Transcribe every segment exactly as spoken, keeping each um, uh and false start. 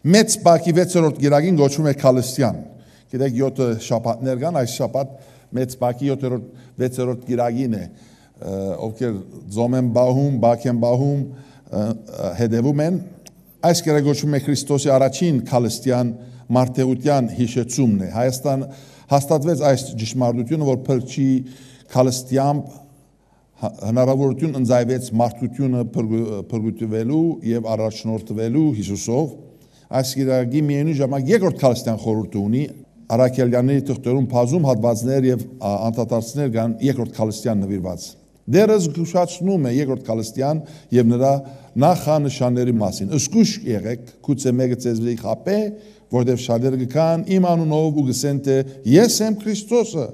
մեծ բակի վեցերորդ գիրագին գոչվում է քալստյան։ Գիտեք յոթ շաբաթներ կան, այս շաբաթ մեծ բակի յոթերորդ վեցերորդ գիրագին է, ովքեր ձոմ են բահում, բակ են բահում, հետևում են, այս կերը գոչվում է Քրիստոսի առաջին քալստյան մարդեղության հիշեցումն է։ Հայաստան հաստատվեց այս ճշմարտությունը, որ փրկչի քալստյամբ հնարավորություն ընձայվեց մարդկությունը փրկվելու եւ առաջնորդվելու Հիսուսով։ Այս գիրագի միևնույն ժամանակ երկրորդ քալստյան խորհուրդ ունի, Արաքելյանների թղթերում բազում հատվածներ եւ անդադարձներ կան երկրորդ քալստյան նվիրված։ Դերը զգուշացնում է երկրորդ քալստյան եւ նրա նախանշանների մասին։ Զգուշ եղեք, գուցե մեկը ձեզ վրա խապե, որտեղ շատերը կգան իմ անունով ու գսեն թե ես եմ Քրիստոսը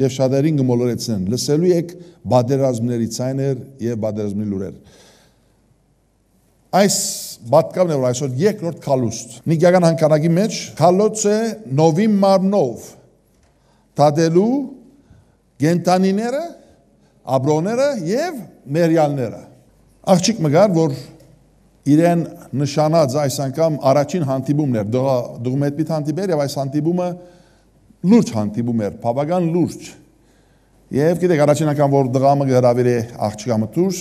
եւ շատերին կմոլորեցնեն։ Լսելու եք բادرազմների ցայներ եւ բادرազմի լուրեր։ Այս բատկավն է, որ այսօր երկրորդ քալուստ։ Նիգիական հանքանակի մեջ քալոց է նովի մարմնով տադելու գենտանիները, աբրոները եւ մերյալները։ Աղջիկ մգար, որ իրեն նշանած այս անգամ առաջին հանդիպումն էր, դուղում հետմիտ հանդիպեր եւ այս հանդիպումը լուրջ հանդիպում էր, բավական լուրջ։ Եվ գիտեք, առաջին անգամ որ դղամը հրավիրե աղջիկը դուրս,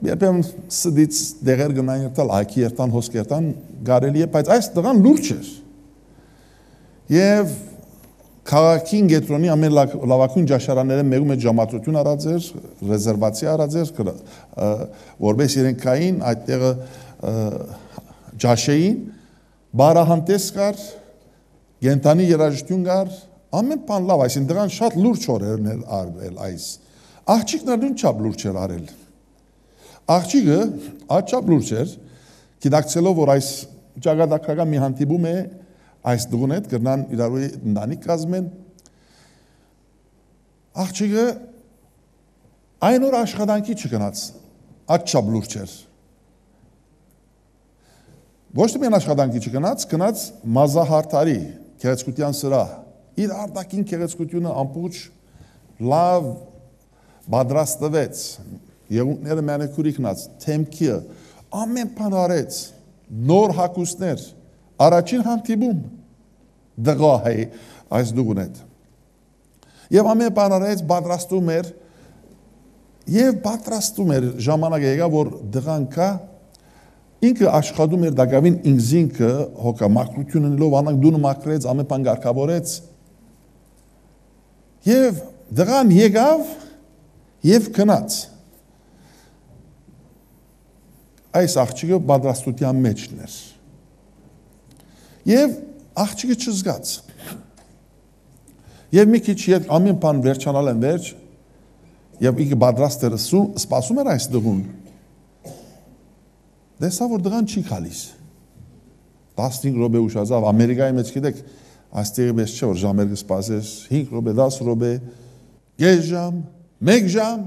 երբեմն սդից դեղեր գնային երթալ, այքի երթան, հոսք երթան, գարելի է, բայց այս դղան լուրջ էր։ Եվ քաղաքին գետրոնի ամեն լավագույն ճաշարանները մեկում է ժամացություն արած էր, ռեզերվացիա արած էր, որպես իրենք կային այդտեղը ճաշեին, բարահանտես կար, գենտանի երաժշտություն կար, ամեն բան լավ, այսին դղան շատ լուրջ օրերն էր արվել այս։ Աղջիկն նույն չափ լուրջ էր արել։ Աղջիկը աչափ լուրջ էր, գիտակցելով, որ այս ճակատագրական մի հանդիպում է այս դուղուն հետ կրնան իրարու ընտանիք կազմեն, աղջիկը այն օր աշխատանքի չգնաց, աչափ լուրջ էր։ Ոչ թե միայն աշխատանքի չգնաց, գնաց մազահարթարի գեղեցկության սրահ։ Իր արտաքին գեղեցկությունը ամբողջ լավ պատրաստվեց, եղունգները մանիկուրի գնաց, թեմքի, ամեն բան արեց, նոր հագուստներ, առաջին հանդիպում դղա է այս դուղուն հետ։ Եվ ամեն բան արեց, պատրաստում էր, եւ պատրաստում էր ժամանակ եկա, որ դղան կա, ինքը աշխատում էր դակավին ինքզինքը հոգա մակրություն ունելով անակ դունը մակրեց, ամեն բան կարգավորեց։ Եվ դղան եկավ եւ գնաց։ Այս աղջիկը պատրաստության մեջն էր։ Եվ աղջիկը չզգաց։ Եվ մի քիչ ետ ամեն բան վերջանալ են վերջ, եւ ինքը պատրաստ էր սպասում էր այս դղուն։ Դեսա որ դղան չի գալիս։ տասնհինգ րոպե ուշացավ, Ամերիկայի մեջ գիտեք, այստեղի մեջ չէ որ ժամեր կսպասես, հինգ րոպե, դաս րոպե, կես ժամ, մեկ ժամ։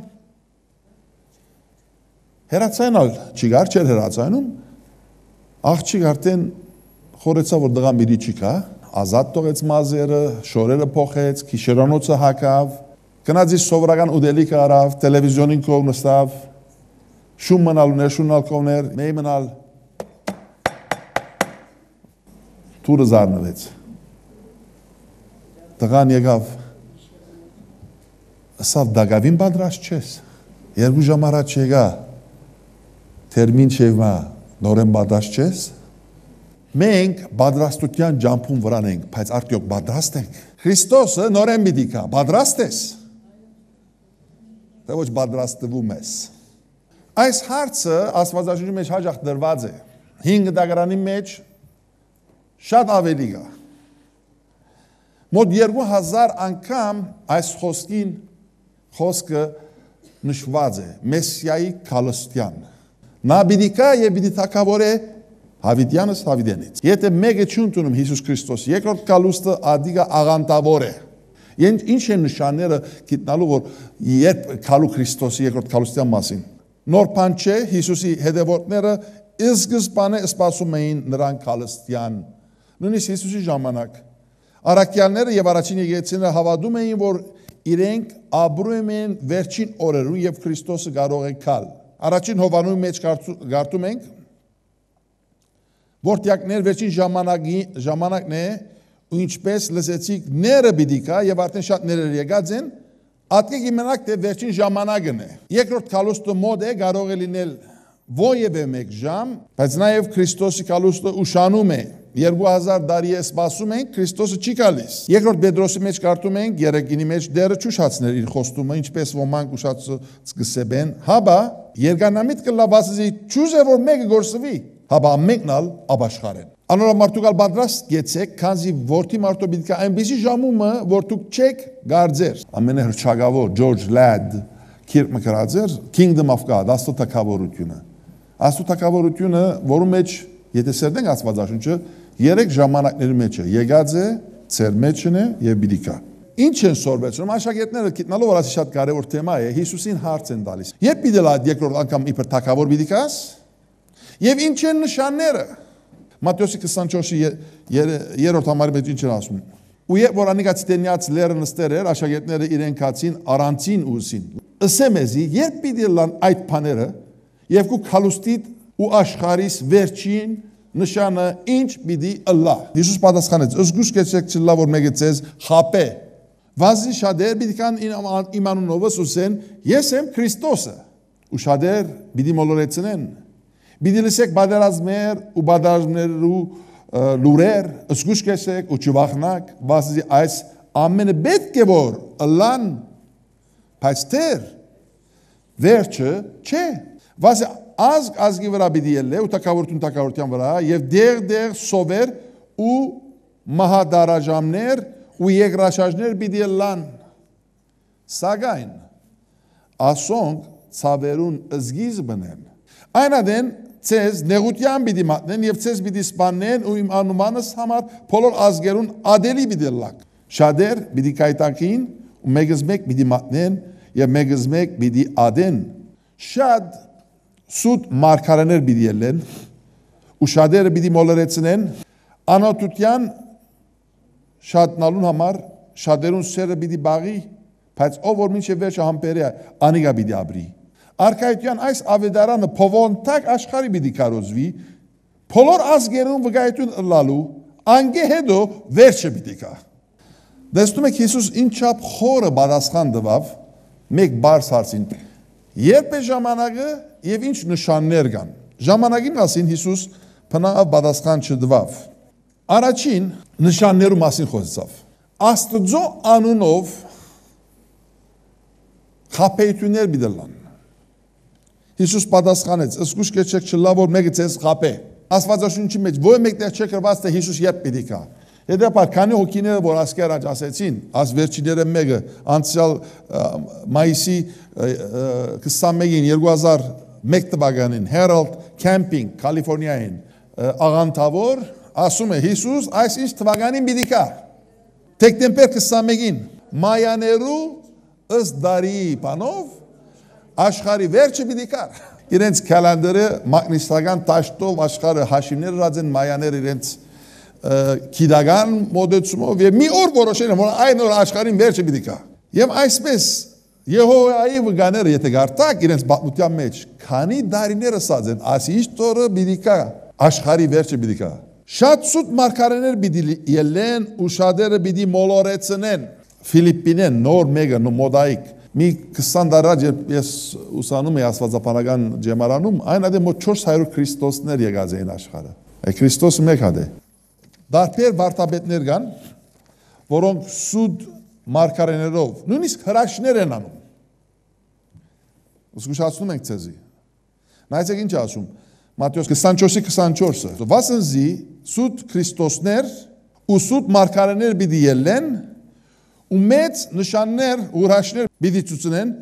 Հերացանալ չի գար, չէր հերացանում, աղջիկ արդեն խորեցավ, որ դղան բիդի չի կա, ազատ տողեց մազերը, շորերը փոխեց, քիշերանոցը հակավ, գնաց իր սովորական ուտելիքը արավ, տելևիզիոնին կողմ նստավ, շուն մնալ ուներ, շունալ կողմներ, մեի մնալ, թուրը զարնվեց, դղան եկավ, ասավ դագավին բադրաշ չես, երկու ժամ առաջ եկա, թերմին չևմա նորեն բադրաշ չես, մենք բադրաստության ջամփուն վրան ենք, բայց արդյոք բադրաստ ենք, Քրիստոսը նորեն պիտի կա, բադրաստ ես, թե ոչ բադրաստվում ես։ Այս հարցը Աստվածաշնչի մեջ հաճախ դրված է, հինգ դագարանի մեջ շատ ավելի կա։ Մոտ երկու հազար անգամ այս խոսքին խոսքը նշված է, Մեսիայի քալստյան։ Նա պիտի կա եւ պիտի թագավորե Հավիտյանս Հավիտյանից։ Եթե մեկը չընդունում Հիսուս Քրիստոս, երկրորդ քալուստը ադիգա աղանտավոր է։ Ինչ են նշանները գտնալու, որ երբ քալու Քրիստոսի երկրորդ քալուստյան մասին։ Նոր բան չէ, Հիսուսի հետևորդները սկզբանե սպասում էին նրան քալստյան։ Նույնիսկ Հիսուսի ժամանակ առաքյալները եւ առաջին եկեղեցիները հավատում էին, որ իրենք ապրում են վերջին օրերում եւ Քրիստոսը կարող է քալ։ Առաջին Հովաննու մեջ կարդում ենք, Որտյակներ վերջին ժամանակի ժամանակն է ու ինչպես լսեցիք ները պիտի կա եւ արդեն շատ ներեր եկած են ատկեք իմանաք թե վերջին ժամանակն է երկրորդ քալուստը մոդ է կարող է լինել ովևէ մեկ ժամ բայց նաեւ Քրիստոսի քալուստը ուշանում է երկու հազար տարի է սպասում ենք Քրիստոսը չի գալիս երկրորդ Պետրոսի մեջ կարդում ենք երեքինի մեջ դերը ճուշացներ իր խոստումը ինչպես ոմանք ուշացած կսեբեն հաբա երգանամիտ կլավասի ճուզե որ մեկը գործվի հաբա մեկնալ աբաշխարեն անորոշ մարդուկալ պատրաստ գեցեք քանզի որթի մարդու պիտի այնպեսի ժամումը որ դուք չեք գարձեր ամենահրճագավոր Ջորջ Լադ Քիրք մկրածեր Kingdom of God աստծո թագավորությունը աստծո թագավորությունը որում մեջ եթե սերդենք Աստվածաշունչը երեք ժամանակների մեջ է եկած է ծեր մեջն է եւ բիդիկա ինչ են սորվեցնում աշակերտները գիտնալով որ ասի շատ կարեւոր թեմա է Հիսուսին հարց են տալիս երբ պիտի լա երկրորդ անգամ իբր թագավոր բիդիկաս եւ ինչ են նշանները Մատթեոս քսանչորսի երրորդ համարի մեջ ինչ են ասում ու երբ որ անիկա ցտենյաց լերը նստեր էր աշակերտները իրեն կացին առանցին ուսին ըսեմեզի երբ պիտի լան այդ բաները եւ կու քալուստիտ ու աշխարհիս վերջին նշանը ինչ պիտի ըլլա Հիսուս պատասխանեց զգուշ կեցեք չլա որ մեկը ցեզ խապե վազի շատեր պիտի կան իմանունով ուսեն ես եմ Քրիստոսը ու շատեր պիտի մոլորեցնեն պիտի լսեք բادرազմեր ու բادرազմներու լուրեր զգուշ կեցեք ու չվախնակ վազի այս ամենը պետք է որ ըլլան բայց դեր վերջը չէ վազի ազգ ազգի վրա պիտի ելնե ու թագավորություն թագավորության վրա եւ դեղ-դեղ սովեր ու մահադարաժամներ ու երկրաշարժներ պիտի ելան սակայն ասոնք ցավերուն զգիզբն են այնադեն ցեզ նեղության պիտի մատնեն եւ ցեզ պիտի սպանեն ու իմ անումանս համար բոլոր ազգերուն ադելի պիտի լակ շատեր պիտի կայտակին ու մեգս մեկ պիտի մատնեն եւ մեգս մեկ պիտի ադեն շատ Սուտ մարգարեներ պիտի ելեն ու շատերը պիտի մոլորեցնեն անօթության շատնալուն համար շատերուն սերը պիտի բաղի բայց ով որ մինչև վերջը համբերե անիգա պիտի ապրի Արքայության այս ավետարանը փովոնտակ աշխարհի պիտի կարոզվի բոլոր ազգերուն վկայություն ըլլալու անգե հետո վերջը պիտի կա Դեսնում եք Հիսուս ինչապ խորը պատասխան տվավ մեկ բարձ հարցին Երբ է ժամանակը եւ ինչ նշաններ կան ժամանակի մասին Հիսուս բնավ պատասխան չտվավ Առաջին նշաններու մասին խոսեցավ Աստծո անունով խաբեություններ բիդլան Հիսուս պատասխանեց զգուշ կեցեք չլա որ մեկը ցես խաբե Աստվածաշունչի մեջ ո՞ր մեկտեղ չէ գրված թե Հիսուս երբ պիտի գա Հետապար քանի հոգիները որ ասկեր աջ ասեցին աս վերջիները մեկը անցյալ մայիսի քսանմեկին երկու հազար մեկ թվականին Herald Camping Կալիֆոռնիային աղանթավոր ասում է Հիսուս այս ինչ թվականին պիտի գա Դեկտեմբեր քսանմեկին մայաներու ըստ դարի բանով աշխարհի վերջը պիտի գա իրենց կալենդարը մագնիսական տաշտով աշխարհը հաշիվներ ռածեն մայաներ իրենց Կիդական մոդեցումով եւ մի օր որոշել են որ այն օր աշխարհին վերջը պիտի գա եւ այսպես Եհովայի վկաները եթե գարտակ իրենց պատմության մեջ քանի դարիներ ասած են ասի տորը պիտի գա աշխարհի վերջը պիտի գա շատ սուտ մարգարեներ պիտի ելեն ու շատերը պիտի մոլորեցնեն Ֆիլիպինեն նոր մեգա նո մոդայիկ մի քսան տարի երբ ես ուսանում եի աստվածապանական ջեմարանում այն ադե մոտ չորս հարյուր քրիստոսներ եկած էին աշխարհը Այ Քրիստոսը մեկ հատ է Դարբեր վարտաբետներ կան, որոնք սուտ մարգարեներով, նույնիսկ հրաշներ են անում։ Զգուշացնում ենք ցեզի։ Նայեցեք ինչ ասում։ Մատթեոս քսանչորսի քսանչորսը։ Վասնզի սուտ Քրիստոսներ ու սուտ մարգարեներ պիտի ելեն ու մեծ նշաններ ու հրաշներ պիտի ցուցնեն,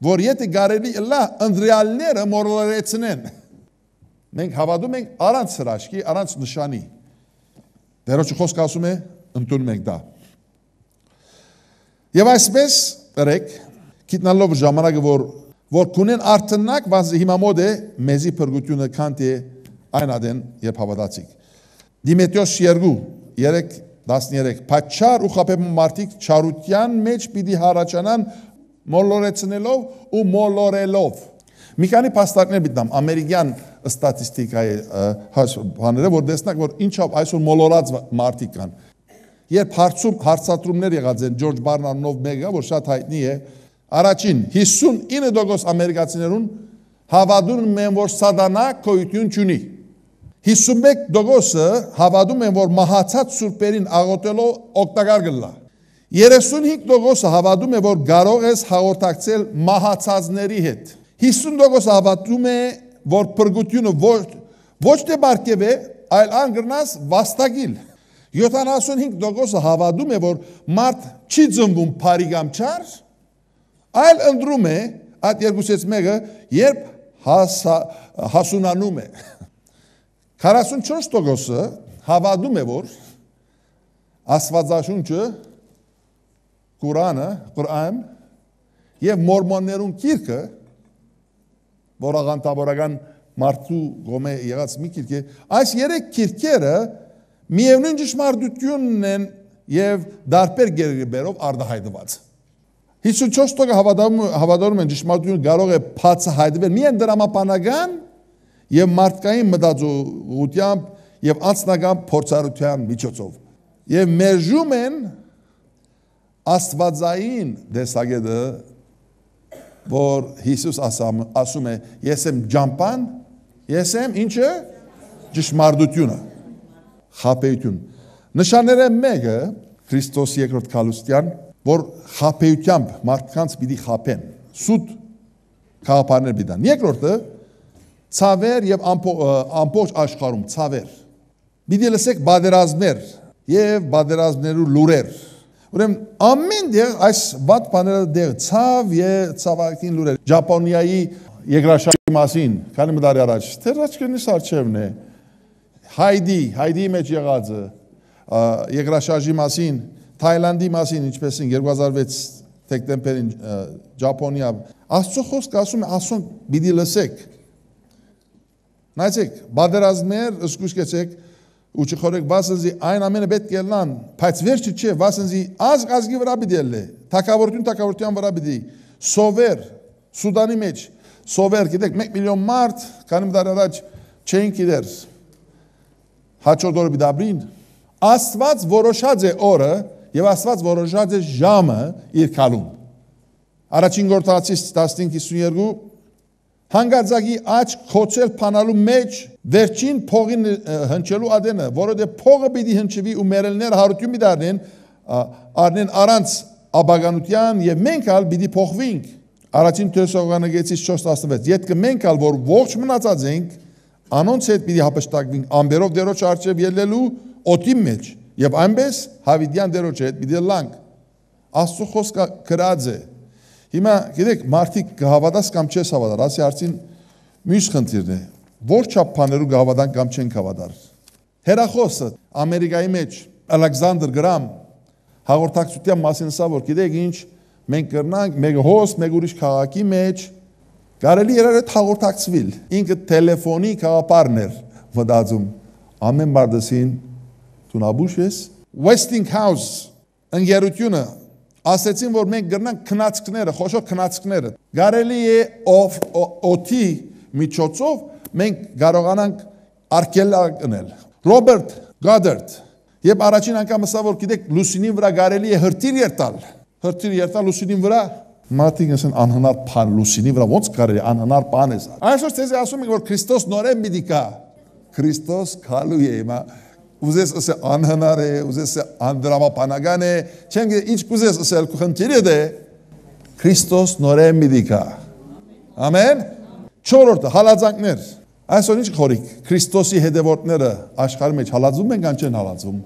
որ եթե գարելի լա անդրեալները մորորեցնեն։ Մենք հավատում ենք առանց հրաշքի, առանց նշանի։ Վերոջը խոսք ասում է, ընդունում ենք դա։ Եվ այսպես ըրեք, գիտնալով ժամանակը, որ որ կունեն արթնակ, վազի հիմա մոդ է, մեզի փրկությունը կանտ է այն ադեն երբ հավատացիք։ Դիմետրիոս երկու, երեք, տասներեք, պատճառ ու խաբեբան մարդիկ չարության մեջ պիտի հառաջանան մոլորեցնելով ու մոլորելով։ Մի քանի փաստարկներ բիտնամ ամերիկյան ստատիստիկայի բաները, որ տեսնակ, որ ինչով այսօր մոլորած մարդիկ կան։ Երբ հարցում հարցատրումներ եղած են Ջորջ Բարնարդով մեկը, որ շատ հայտնի է, առաջին հիսունինը տոկոս ամերիկացիներուն հավատում են, որ սատանա գոյություն չունի։ հիսունմեկ տոկոսը հավատում են, որ մահացած սուրբերին աղոթելով օգտակար կլա։ երեսունհինգ տոկոսը հավատում է, որ կարող ես հաղորդակցել մահացածների հետ։ հիսուն տոկոսը հավատում է, որ փրկությունը ոչ ոչ թե բարգև է, այլ անգրնաս վաստակիլ։ յոթանասունհինգ տոկոսը հավատում է, որ մարդ չի ծնվում բարի կամ չար, այլ ընտրում է այդ երկուսից մեկը, երբ հասունանում է։ քառասունչորս տոկոսը հավատում է, որ Աստվածաշունչը Qur'անը, Qur'an եւ մորմոններուն գիրքը, որ աղանդավորական մարդու գոմե եղած մի գիրք է, այս երեք գիրքերը միևնույն ճշմարտությունն են եւ դարբեր գերբերով արտահայտված։ հիսունչորս տոկոսը հավատում հավատում են ճշմարտությունը կարող է բացահայտվել միայն դրամապանական եւ մարդկային մտածողությամբ եւ անձնական փորձառության միջոցով։ Եվ մերժում են Աստվածային դեսագետը, որ Հիսուս ասում է, ես եմ ջամփան, ես եմ ինչը ճշմարտությունը, խաբեություն։ Նշանները մեկը Քրիստոս երկրորդ քալուստյան, որ խաբեությամբ մարդկանց պիտի խաբեն, սուտ քաղաքներ պիտան։ Երկրորդը ցավեր եւ ամբողջ աշխարհում ցավեր։ Պիտի լսեք բادرազմներ եւ բادرազմներու լուրեր։ Ուրեմն ամեն դեր այս վատ բաները դեր ցավ եւ ցավակին լուրեր։ Ճապոնիայի երկրաշարժի մասին, քանի մտարի առաջ, թերաչքնից արչևն է։ Հայդի, Հայդի մեջ եղածը, երկրաշարժի մասին, Թայլանդի մասին, ինչպես են երկու հազար վեց դեկտեմբերին Ճապոնիա, Աստծո խոսքը ասում է, ասում պիտի լսեք։ Նայեցեք, բادرազմներ, զգուշկեցեք, ու չխորեք վասնզի այն ամենը պետք է լան, բայց վերջը չէ, վասնզի ազգ ազգի վրա պիտի լե, թակավորություն թակավորության վրա պիտի, սովեր, Սուդանի մեջ, սովեր, գիտեք, մեկ միլիոն մարդ, քանի մտար առաջ չէին գիտեր, հաջորդ օրը պիտի ապրին, Աստված որոշած է օրը եւ Աստված որոշած է ժամը իր քալում։ Առաջին Գործընթացից տասնհինգ հիսունյոթ հանգարձակի աչք խոցել փանալու մեջ վերջին փողին հնչելու ադենը, որովհետև փողը պիտի հնչվի ու մերելները հարություն պիտի առնեն, առնեն առանց աբագանության եւ մենք ալ պիտի փոխվենք։ Առաջին Թեսաղոնիկեցիս չորս տասնվեց։ Յետքը մենք ալ որ ողջ մնացած ենք, անոնց հետ պիտի հապշտակվենք ամբերով դերոջ արչև ելնելու օդի մեջ եւ այնպես հավիդյան դերոջ հետ պիտի լանք։ Աստծո խոսքը գրած է։ Հիմա գիտեք, մարդիկ կհավատաս կամ չես հավատար, ասի արդին մյուս խնդիրն է, որ չափ բաներու կհավատան կամ չեն հավատար։ Հերախոսը Ամերիկայի մեջ Ալեքսանդր Գրամ հաղորդակցության մասին ասա, որ գիտեք ինչ, մենք կրնանք մեկ հոս, մեկ ուրիշ քաղաքի մեջ, կարելի էր այդ հաղորդակցվել, ինքը տելեֆոնի քաղաքապարներ մտածում, ամեն մարդասին տունաբուշ ես, Westinghouse ընկերությունը ասեցին, որ մենք գրնանք քնածքները, խոշոր քնածքները։ Կարելի է օդի միջոցով մենք կարողանանք արկելակնել։ Ռոբերտ Գադարդ, երբ առաջին անգամ ասա, որ գիտեք, լուսինին վրա կարելի է հրթիռ երթալ, հրթիռ երթալ լուսինին վրա, մարդիկ ասեն անհնար բան, լուսինի վրա ոնց կարելի անհնար բան է։ Այսօր ցեզ ասում ենք, որ Քրիստոս նորեն պիտի գա։ Քրիստոս գալու է, հիմա ուզես ասել անհնար է, ուզես ասել անդրամապանական է, չեմ գիտե ինչ կուզես ասել խնդիրը դե Քրիստոս նորեն պիտի գա։ Ամեն։ Չորրորդը հալածանքներ։ Այսօր ինչ խորիկ, Քրիստոսի հետևորդները աշխարհի մեջ հալածում են կամ չեն հալածում։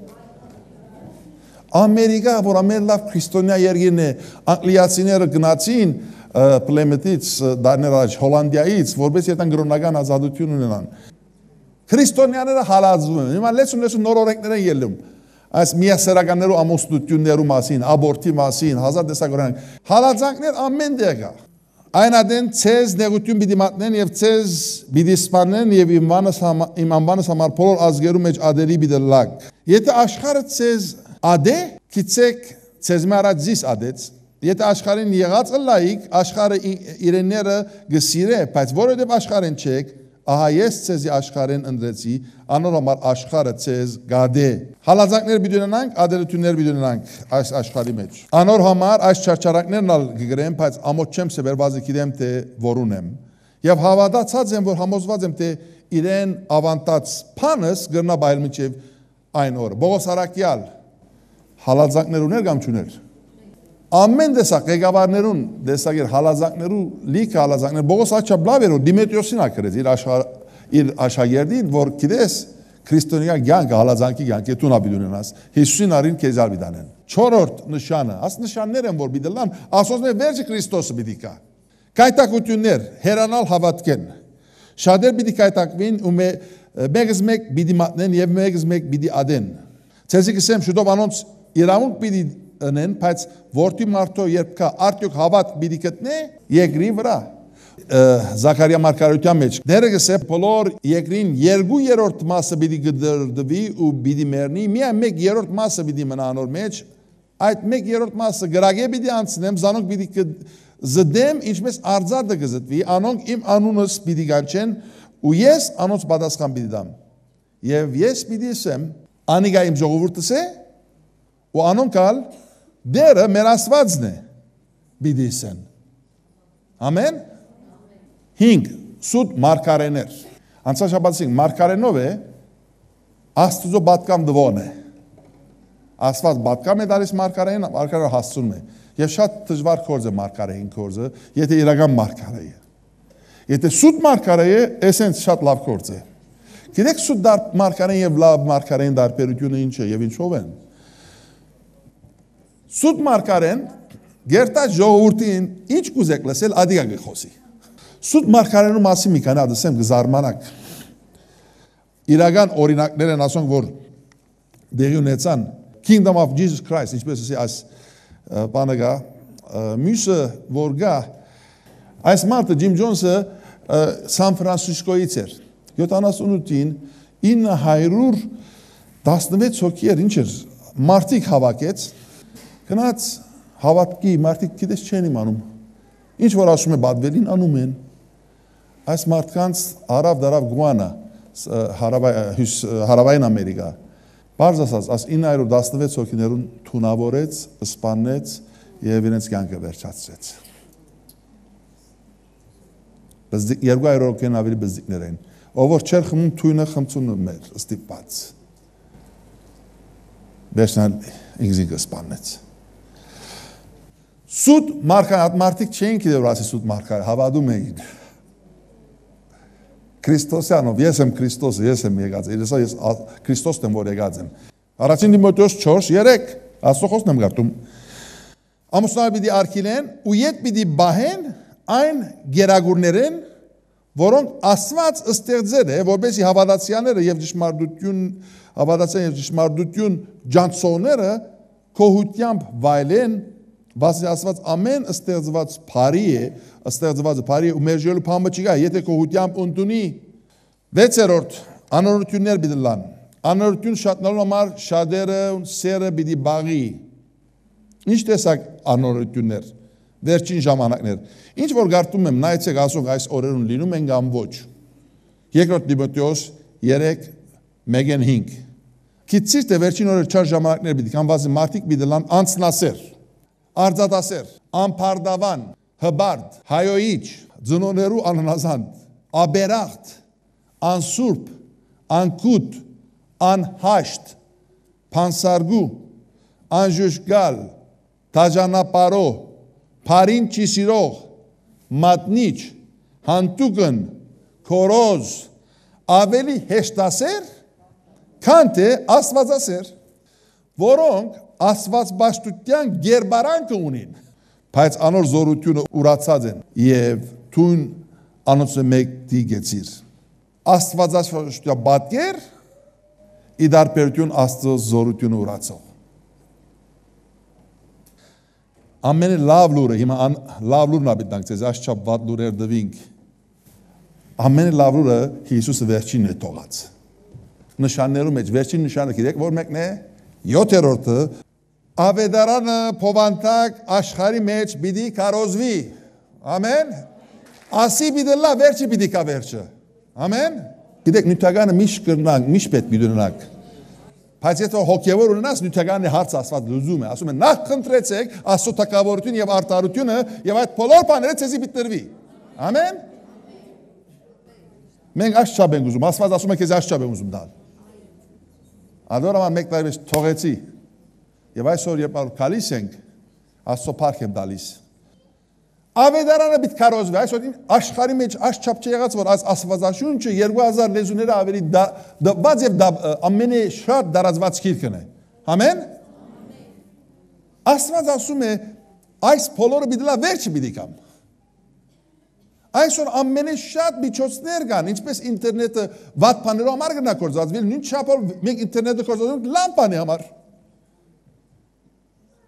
Ամերիկա, որ ամեն լավ քրիստոնյա երկիրն է, անգլիացիները գնացին Պլեմեթից, դարներ առաջ Հոլանդիայից, որպես երթան գրոնական ազատություն ունենան։ Քրիստոնյաները հալածվում են։ Հիմա լեցուն լեցուն նոր օրենքներ են ելնում։ Այս միասեռականներու ամուսնություններու մասին, աբորտի մասին, հազար տեսակորեն։ Հալածանքներ ամեն տեղ կա։ Այն ադեն ցեզ նեղություն պիտի մատնեն եւ ցեզ պիտի սպանեն եւ իմ անվանս իմ անվանս համար բոլոր ազգերու մեջ ադերի պիտի լակ։ Եթե աշխարհը ցեզ ադե, գիտեք, ցեզ մարած զիս ադեց Եթե աշխարհին եղած ըլլայիք, աշխարհը իրենները գսիրե, բայց որովհետև աշխարհին չեք, ահա ես ցեզի աշխարհին ընդրեցի, անոր համար աշխարհը ցեզ գադե։ Հալածանքներ պիտի ունենանք, ադելություններ պիտի ունենանք այս աշխարհի մեջ։ Անոր համար այս չարչարանքներն ալ կգրեմ, բայց ամոթ չեմ սեբեր, բազի գիտեմ թե որուն եմ։ Եվ հավատացած եմ, որ համոզված եմ, թե իրեն ավանտած փանս գրնա բայել միջև այն օրը։ Բողոս Արաքյալ հալածանքներ ուներ կամ չուներ։ Ամեն տեսակ ղեկավարներուն տեսակեր հալածանքներու լիքը հալածանքներ Բողոս Աչաբլավերու Դիմետրիոսին ակրեց իր աշխարհ իր աշակերտին, որ գիտես քրիստոնյա կյանքը հալածանքի կյանք է տունա պիտի ունենաս Հիսուսին արին քեզալ պիտանեն չորրորդ նշանը աս նշաններ են որ պիտի լան ասոսնե վերջը Քրիստոսը պիտի կա կայտակություններ հերանալ հավատքեն շատեր պիտի կայտակվին ու մեկս մեկ պիտի մատնեն եւ մեկս մեկ պիտի ադեն ցեզի կսեմ շուտով անոնց իրավունք պիտի ընեն, բայց որդի մարդո երբ կա արդյոք հավատ պիտի գտնե երկրի վրա Զաքարիա մարգարեության մեջ դերը գսե բոլոր երկրին երկու երրորդ մասը պիտի գդրդվի ու պիտի մեռնի միայն մեկ երրորդ մասը պիտի մնա անոր մեջ այդ մեկ երրորդ մասը գրագե պիտի անցնեմ զանոնք պիտի զդեմ ինչպես արձարդը գզտվի անոնք իմ անունս պիտի գանչեն ու ես անոնց պատասխան պիտի դամ եւ ես պիտի ասեմ անիգա իմ ժողովուրդս է ու անոնքալ դերը մեր Աստվածն է պիտի ասեն ամեն հինգ սուտ մարգարեներ անցած շաբաթին մարգարենով է Աստուծո պատկամ դվոն է Աստված պատկամ է դարիս մարգարեն մարգարը հասցում է եւ շատ դժվար կորձ է մարգարեին կորձը եթե իրական մարգարե է եթե սուտ մարգարե է էսենց շատ լավ կորձ է գիտեք սուտ դար մարգարեն եւ լավ մարգարեն դարբերությունը ինչ է եւ ինչով են Սուտ մարգարեն գերտած ժողովրդին ինչ կուզեք լսել ադիգա գխոսի Սուտ մարգարենու մասին մի քանի ասեմ գզարմանակ իրական օրինակներ են ասոնք որ դեղի ունեցան Kingdom of Jesus Christ ինչպես ասի այս բանը գա մյուսը որ գա այս մարդը Ջիմ Ջոնսը Սան Ֆրանցիսկոից էր յոթանասունութին ինը հարյուր տասնվեց հոգի էր ինչ էր մարդիկ հավաքեց Գնաց հավատքի մարդիկ գիտես չեն իմանում ինչ որ ասում է բադվելին անում են այս մարդկանց հարավ դարավ գուանա հարավային Ամերիկա բարձ ասած այս ինը հարյուր տասնվեց հոգիներուն թունավորեց սպանեց եւ իրենց կյանքը վերջացրեց բզդիկ երկու հարյուր հոգին ավելի բզդիկներ են ով որ չեր խմում թույնը խմցուն մեր ստիպած վերջնալ ինքզիկը սպանեց Սուտ մարգարե մարդիկ չէին գիտեր որ ասի սուտ մարգարե հավատում էին Քրիստոսյանով ես եմ Քրիստոսը ես եմ եկած ես ես Քրիստոսն եմ որ եկած եմ Առաջին Տիմոթեոս չորս երեք Աստծո խոսքն եմ գարտում Ամուսնալը պիտի արգելեն ու ետ պիտի բահեն այն գերագուրներեն որոնք Աստված ստեղծել է որպեսզի հավատացյալները եւ ճշմարտություն հավատացյալ եւ ճշմարտություն ջանցողները կողությամբ վայելեն Բացի Աստված ամեն ստեղծված բարի է, ստեղծված բարի ու մեր ժողովուրդը փամը չկա, եթե կողությամբ ընդունի վեցերորդ անորություններ պիտի լան։ Անորություն շատնալու համար շատերը սերը պիտի բաղի։ Ինչ տեսակ անորություններ, վերջին ժամանակներ։ Ինչ որ գարտում եմ, նայեցեք ասող այս օրերուն լինում են կամ ոչ։ Երկրորդ Տիմոթեոս երեք մեկն հինգ։ Քիծից թե վերջին օրեր չար ժամանակներ պիտի կանվազի մարդիկ պիտի լան անցնասեր։ Արձատասեր, անփարդավան, հբարդ, հայոյիչ, ձնոներու անհնազանդ, աբերախտ, անսուրբ, անկուտ, անհաշտ, փանսարգու, անժուշկալ, թաժանապարո, փարին չիսիրող, մատնիչ, հանտուկն, քորոզ, ավելի հեշտասեր, քան թե աստվածասեր, որոնք Աստվածբաշտության գերբարանքը ունին, բայց անոր զորությունը ուրացած են եւ թուն անոնց մեկ դիգեցիր։ Աստվածաշրջության բատկեր իդարբերություն Աստծո զորությունը ուրացող։ Ամենը լավ լուրը, հիմա լավ լուրն աբիտնանք ցեզ աշխապ վատ լուրեր դվինք։ Ամենը լավ լուրը Հիսուսը վերջինն է թողած։ Նշաններու մեջ վերջին նշանը գիտեք որ մեկն է յոթերորդը Ավետարանը փովանտակ աշխարհի մեջ պիտի կարոզվի։ Ամեն։ Ասի պիտի լա վերջի պիտի կա վերջը։ Ամեն։ Գիտեք նյութականը միշտ կրնանք, միշտ պետք պիտի ունենանք։ Բայց եթե հոգևոր ունենաս նյութականի հարց ասված լուզում է, ասում է նախ խնդրեցեք Աստծո թակավորություն եւ արտարությունը եւ այդ բոլոր բաները ցեզի պիտի տրվի։ Ամեն։ Մենք աշճապ ենք ուզում, Աստված ասում է քեզ աշճապ եմ ուզում տալ։ Ադորաման մեկ տարի մեջ թողեցի։ Եվ այսօր երբ գալիս ենք, Աստծո փառք եմ տալիս։ Ավետարանը պիտի կարոզվի, այսօր աշխարհի մեջ աշճապ չեղած որ Աստվածաշունչը երկու հազար լեզուները ավելի դված եւ ամենաշատ դարածված գիրքն է։ Ամեն։ Աստված ասում է այս բոլորը պիտի լա վերջը պիտի կամ։ Այսօր ամենաշատ միջոցներ կան, ինչպես ինտերնետը վատ բաներով համար կնա կործածվել, նույն չափով մենք ինտերնետը կործածում լամպանի համար։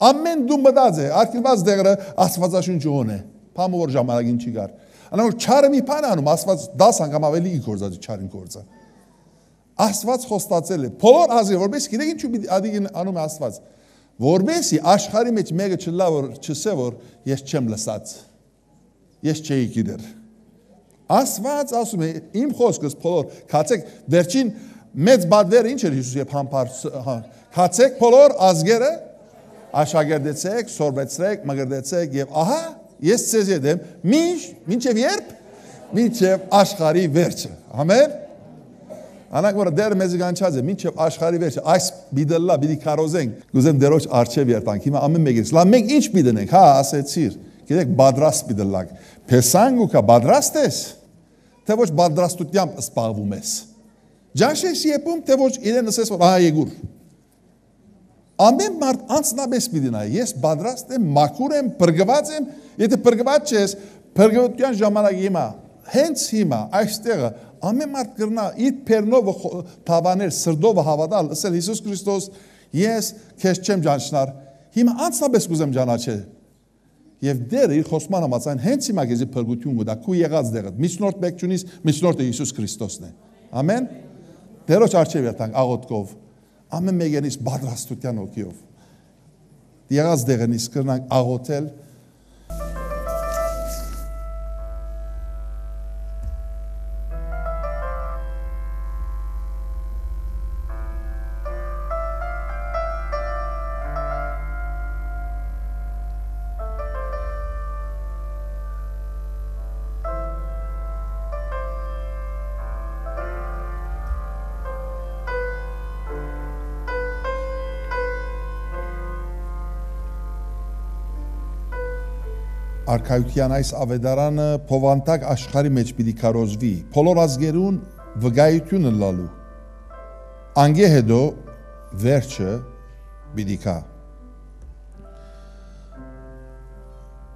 Ամեն դու մտած է, արկելված դեղը Աստվածաշունչը հոն է, փամը որ ժամանակին չի գար։ Անոր չարը մի բան անում, Աստված դաս անգամ ավելի կործած չարին կործա։ Աստված խոստացել է, բոլոր ազգերը, որպես գիտեք ինչու ադիգին անում է Աստված, որպեսզի աշխարհի մեջ մեկը չլա որ չսե որ ես չեմ լսած։ Ես չէի գիտեր։ Աստված ասում է իմ խոսքս բոլոր քացեք վերջին մեծ բադվերը ինչ էր Հիսուս եւ համբար քացեք բոլոր ազգերը աշակերտեցեք, սորվեցրեք, մգրտեցեք եւ ահա ես ցեզ յետեմ մինչ մինչեւ երբ մինչեւ աշխարհի վերջը։ Ամեն։ Անակ որ դեր մեզ գանչած է մինչեւ աշխարհի վերջը այս բիդլա բիդի կարոզենք գուզեմ դերոջ արչեւ երտանք հիմա ամեն մեկից լա մենք ինչ բիդնենք հա ասեցիր գիտեք բադրաստ բիդլակ փեսանգուկա բադրաստ ես թե ոչ բադրաստությամբ սպառվում ես ջանշես եպում թե ոչ իրեն ասես որ ահա եգուր ամեն մարդ անցնաբես պիտի ես բադրաստ եմ մաքուր եմ բրգված եմ եթե բրգված չես բրգվածության ժամանակ հիմա հենց հիմա այստեղը ամեն մարդ կրնա իր փերնով թավանել սրդով հավատալ ասել Հիսուս Քրիստոս ես քեզ չեմ ջանչնար հիմա անցնաբես կուզեմ ջանաչել եւ դերը իր խոսման համաձայն հենց հիմա քեզի բրգություն գտա քու եղած դեղը միջնորդ բեկչունից միջնորդը Հիսուս Քրիստոսն է ամեն դերոջ արչեւ երթանք աղոթքով ամեն մեկենից բադրաստության ոգիով եղած դեղենից կրնանք աղոթել Արքայության այս ավետարանը փովանտակ աշխարհի մեջ պիտի կարոզվի բոլոր ազգերուն վկայությունը լալու անգե հետո վերջը պիտի կա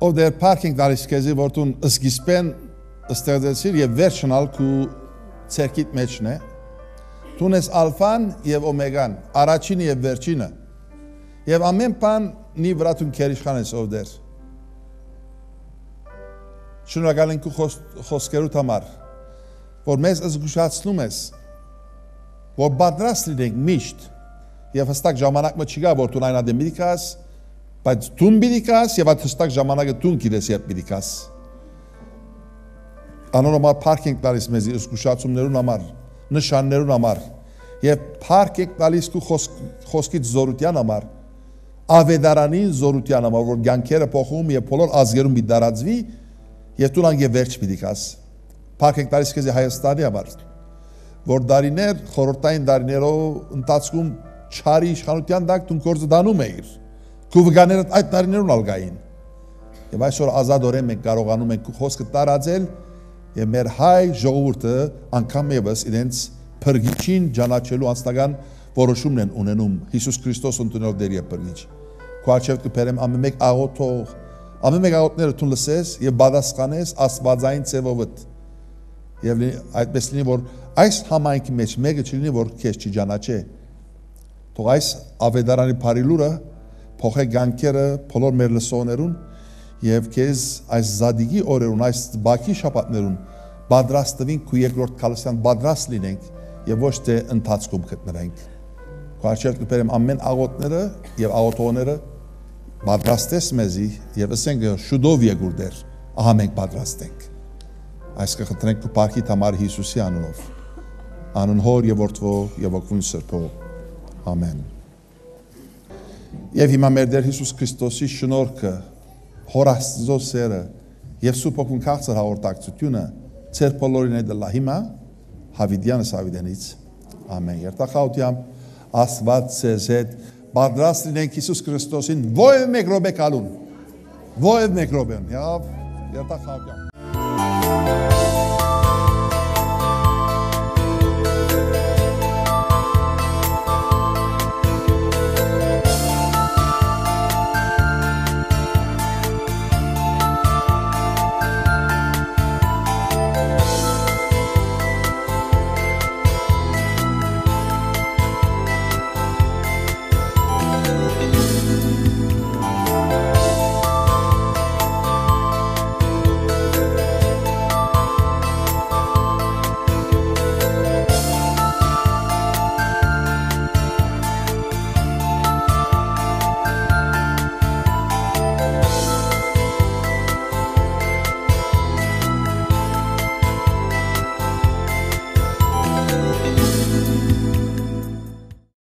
ով դեր parking դարիս քեզի որտուն սկիզբեն ստեղծեցիր եւ վերջն ալքու ցերկիտ մեջն է դուն ես ալֆան եւ օմեգան առաջինը եւ վերջինը եւ ամեն բան նի վրա դուն քերիշխան ես ով դեր Շնորհակալ ենք քո խոսքերուդ համար, որ մեզ զգուշացնում ես, որ պատրաստ լինենք միշտ եւ հստակ ժամանակը չկա, որ դու այնադեմ միքաս, բայց դու միքաս եւ այդ հստակ ժամանակը դու գիտես երբ միքաս։ Անոնոմալ parking տալիս մեզ զգուշացումներուն համար, նշաններուն համար եւ parking տալիս քո խոսքից զորության համար, ավետարանին զորության համար, որ ցանկերը փոխում եւ բոլոր ազգերուն մի դարածվի Եվ դու անգե վերջ պիտի կաս, պարկ ենք տարիս կեզի Հայաստանի համար, որ դարիներ, խորհրդային դարիներով ընթացքում չարի իշխանության դակ դու գործը դանում էիր, քու վկաներդ այդ դարիներուն ալգային, եւ այսօր ազատորեն մենք կարողանում ենք խոսքը տարածել եւ մեր հայ ժողովուրդը անգամ եւս իրենց փրկիչին ճանաչելու անձնական որոշումն են ունենում Հիսուս Քրիստոս ընդունելով դեր եւ փրկիչ։ Քո արչեւ կբերեմ ամեն մեկ աղոթող Ամեն մեկ աղոթները դու լսես եւ բադասխանես աստվածային ծևովդ։ Եվ այդպես լինի որ այս համայնքի մեջ մեկը չլինի որ քեզ չճանաչե։ Թող այս ավետարանի բարիլուրը փոխե գանքերը բոլոր մեր լսողներուն եւ քեզ այս զադիգի օրերուն այս բակի շաբաթներուն պատրաստվին քու երկրորդ քալսյան պատրաստ լինենք եւ ոչ թե ընթացքում գտնվենք։ Քարչել կբերեմ ամեն աղոթները եւ աղոթողները պատրաստես մեզի եւ ասենք շուտով եկուր դեր ահա մենք պատրաստ ենք այս կխնդրենք քո բարքի համար Հիսուսի անունով անուն Հոր եւ Որդվո եւ Ոգուն Սրբո ամեն եւ հիմա մեր Տեր Հիսուս Քրիստոսի շնորհքը Հոր Աստծո սերը եւ Սուրբ Օգուն քաղցր հաղորդակցությունը ծեր բոլորին է դլա հիմա Հավիդյանս Հավիդենից ամեն երթախաությամբ Աստված ձեզ հետ պատրաստ լինենք Հիսուս Քրիստոսին ո՛վ մեկ րոպե կալուն ո՛վ մեկ րոպե երթախաությամբ